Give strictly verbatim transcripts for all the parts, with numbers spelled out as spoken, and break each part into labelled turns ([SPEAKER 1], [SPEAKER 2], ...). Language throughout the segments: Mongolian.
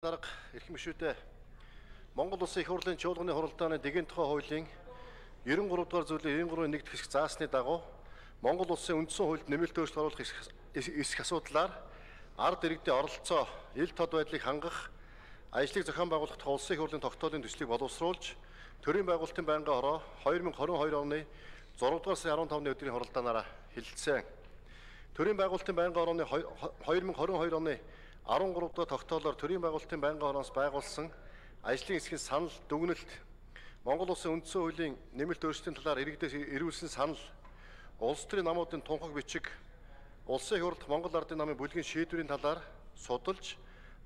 [SPEAKER 1] Дарга эрхэм гишүүдээ Монгол Улсын их хурлын чуулганы хуралдааны дэгийн тухай хуулийн девяносто trois дугаар зүйлийн девяносто trois-ийн нэг хэсэг заасны дагуу Монгол Улсын үндсэн хуульд нэмэлт өөрчлөлт оруулах эсэх асуудлаар ард иргэдийн оролцоо, ил тод байдлыг хангах, ажлыг зохион байгуулах тухай Улсын их хурлын тогтоолын төслийг боловсруулж, төрийн байгуулалтын байнгын хороо two thousand twenty-two оны six дугаар сарын fifteen-ны өдрийн хуралдаанаараа хэлэлцсэн. Төрийн байгуулалтын байнгын хорооны two thousand twenty-two оны13 дугаар тогтоолоор төрийн байгуулалтын байнгын хороноос байгуулсан ажлын эсхийн санал дүгнэлт, Монгол Улсын үндсэн хуулийн нэмэлт өөрчлөлтийн талаар иргэдээс ирүүлсэн санал, улс төрийн намуудын тунхаг бичиг, Улсын их хурлд Монгол Ардын намын бүлгийн шийдвэрийн талаар судалж,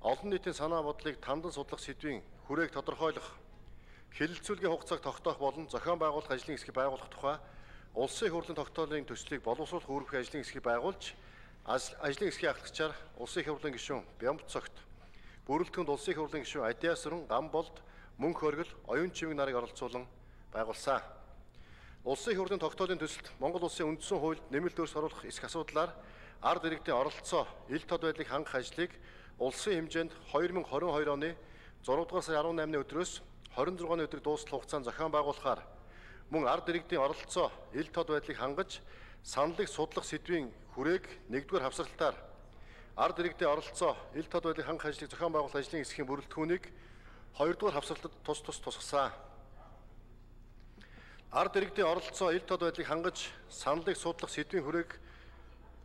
[SPEAKER 1] олон нийтийн санаа бодлыг тандан судлах сэдвийн хүрээг тодорхойлох, хэлэлцүүлгийн хугацааг тогтоох болон зохион байгуулах ажлын эсхийг байгуулах тухай Улсын их хурлын тогтоолын төслийг боловсруулах үүрэг ажлын эсхийг байгуулж, ажлын эсхийг ахлагчаар Улсын их хурлын гишүүн Бямб цогт, бүрэлдэхүүнд Улсын их хурлын гишүүн Адиасран, Гамболд, Мөнх Оргил, Оюун Чивэг нарыг оролцуулан байгуулсан. Улсын их хурлын тогтоолын төсөлд Монгол Улсын үндсэн хуульд нэмэлт өөрчлөлт оруулах эсэх асуудлаар ард иргэдийн оролцоо, ил тод байдлыг хангах ажлыг улсын хэмжээнд two thousand twenty-two оны six дугаар сарын eighteen-ны өдрөөс twenty-six-ны өдрийг дуустал хугацаанд зохион байгуулахаар мөн ард иргэдийн оролцоо, ил тод байдлыг хангаж саналыг судлах сэдвийн хүрээг нэгдүгээр хавсралтаар ард иргэдийн оролцоо, ил тод байдлыг хангах ажлыг зохион байгуулах ажлын эсхийн бүрэлдэхүүнийг хоёрдугаар хавсралтад тус тус тусгасан. Ард иргэдийн оролцоо, ил тод байдлыг хангаж саналыг судлах сэдвийн хүрээг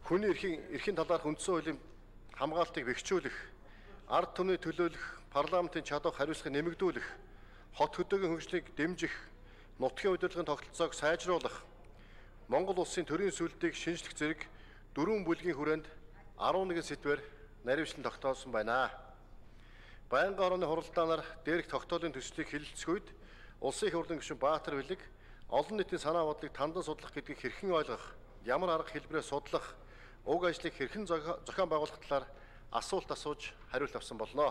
[SPEAKER 1] хүний эрхийн эрхийн талаарх үндсэн хуулийн хамгаалтыг бэхжүүлэх, ард түмний төлөөлөх, парламентын чадвар хариуцлагыг нэмэгдүүлэх, хот хөдөөгийн хөгжлийг дэмжих, нутгийн удирдлагын тогтолцоог сайжруулах, Монгол Улсын төрийн сүлдийг шинжлэх зэрэг дөрвөн бүлгийн хүрээнд eleven сэдвээр наривчлан тогтоосон байна. Байнгын хорооны хуралдаанаар дээрх тогтоолын төслийг хэлэлцэх үед Улсын их хурлын гишүүн Баатар Билэг олон нийтийн санаа бодлыг тандан судлах гэдгийг хэрхэн ойлгох, ямар арга хэлбэрээр судлах, уг ажлыг хэрхэн зохион байгуулах талаар асуулт асууж хариулт авсан болно.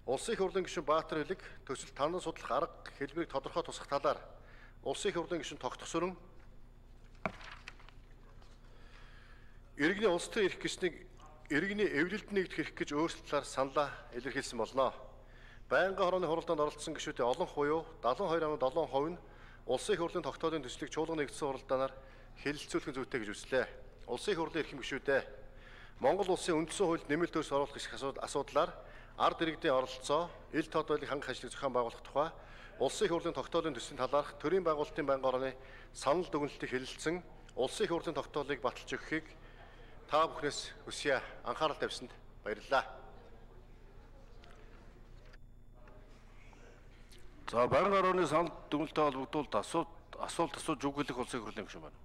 [SPEAKER 1] Улсын их хурлын гишүүн Баатар Билэг төсөлд тандан судлах арга хэлбэрийг тодорхой тусах талаар Улсын их хурлын гишүүн Тогтгосөрөн иргэний улс төрийн эрх гэснийг иргэний эвлэлд нэгдэх эрх гэж өөрчлөлтөөр саналаа илэрхийлсэн болно. Байнгын хорооны хуралдаанд оролцсон гишүүдийн олон хуйуу seventy-two point seven percent нь Улсын их хурлын тогтоолын төслийг чуулганы нэгдсэн хуралдаанаар хэлэлцүүлэх зүйтэй гэж үзлээ. Улсын их хурлын эрхэм гишүүдээ Монгол Улсын үндсэн хуульд нэмэлт өөрчлөлт оруулах эсэх асуудлаар ард иргэдийн оролцоо, ил тод байдлыг хангах ажлыг зохион байгуулах тухай Улсын их хурлын тогтоолын төслийн талаарх төрийн байгуулалтын байнгын хорооны санал дүгнэлтийг хэлэлцэн Улсын их хурлын тогтоолыг баталж өгөхийг та бүхнээс хүсье. Анхаарал тавьсанд баярлалаа.
[SPEAKER 2] За, байнгын хорооны санал дүгнэлтэд холбогдуулт асуулт асуулт асууж үг хэлэх Улсын их хурлын гишүүн байна.